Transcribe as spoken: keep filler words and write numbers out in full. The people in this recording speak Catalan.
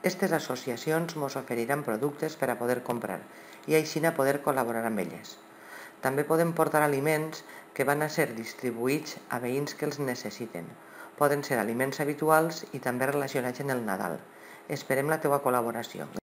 Aquestes associacions ens oferiran productes per a poder comprar i així a poder col·laborar amb elles. També podem portar aliments que van a ser distribuïts a veïns que els necessiten. Poden ser aliments habituals i també relacionats amb el Nadal. Esperem la teva col·laboració.